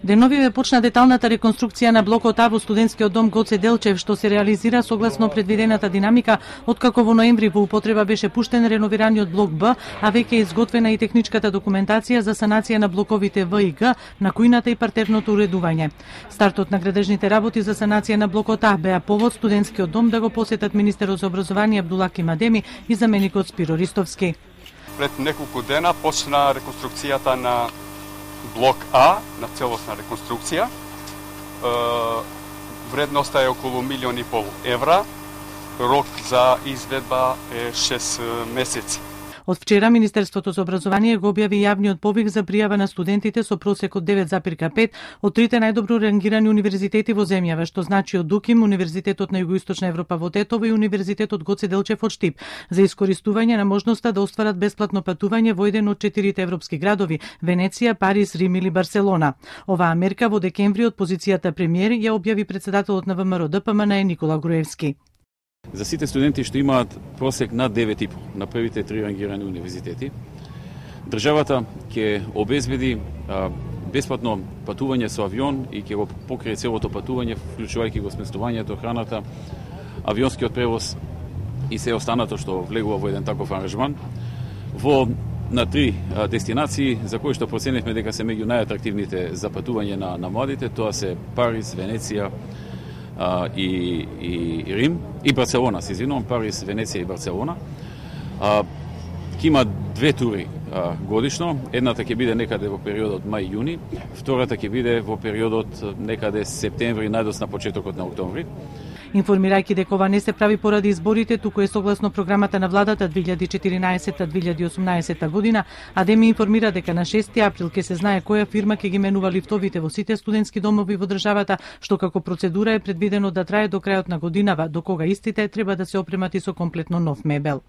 Деновиве почна деталната реконструкција на блокот А во студентскиот дом Гоце Делчев, што се реализира согласно предвидената динамика, откако во ноември во употреба беше пуштен реновираниот блок Б, а веќе е изготвена и техничката документација за санација на блоковите В и Г, на кујната и партерното уредување. Стартот на градежните работи за санација на блокот А беа повод студентскиот дом да го посетат министерот за образование Абдулаки Мадеми и заменикот Спиро Ристовски. Пред неколку дена почна реконструкцијата на блок А, на целосна реконструкција. Вредноста е околу 1,5 евра. Рок за изведба е 6 месеци. Од вчера Министерството за образование го објави јавниот повик за пријава на студентите со просек од 9,5 од трите најдобро рангирани универзитети во земјава, што значи од ДУКИМ, Универзитетот на Југоисточна Европа во Тетово и Универзитетот Гоце Делчев од Штип, за искористување на можноста да остварат бесплатно патување во еден од 4 европски градови – Венеција, Париз, Рим или Барселона. Оваа мерка во декември од позицијата премиер ја објави председателот на ВМРО ДПМН Никола Груевски. За сите студенти што имаат просек над 9,5 на првите 3 рангирани универзитети, државата ќе обезбеди бесплатно патување со авион и ќе го покрие целото патување, вклучувајќи го сместувањето, храната, авионскиот превоз и се останато што влегува во еден таков аранжман на 3 дестинации за кои што проценивме дека се меѓу најатрактивните за патување на младите, тоа се Париз, Венеција, и Рим и Барселона, се извинувам, Париз, Венеција и Барселона. Ќе има 2 тури годишно. Едната ќе биде некаде во периодот мај-јуни, втората ќе биде во периодот некаде септември, најдос на почетокот на октомври. Информирајќи дека ова не се прави поради изборите, туку е согласно програмата на владата 2014-2018 година, Адеми информира дека на 6 април ќе се знае која фирма ќе ги менува лифтовите во сите студентски домови во државата, што како процедура е предвидено да трае до крајот на годинава, до кога истите треба да се опремати со комплетно нов мебел.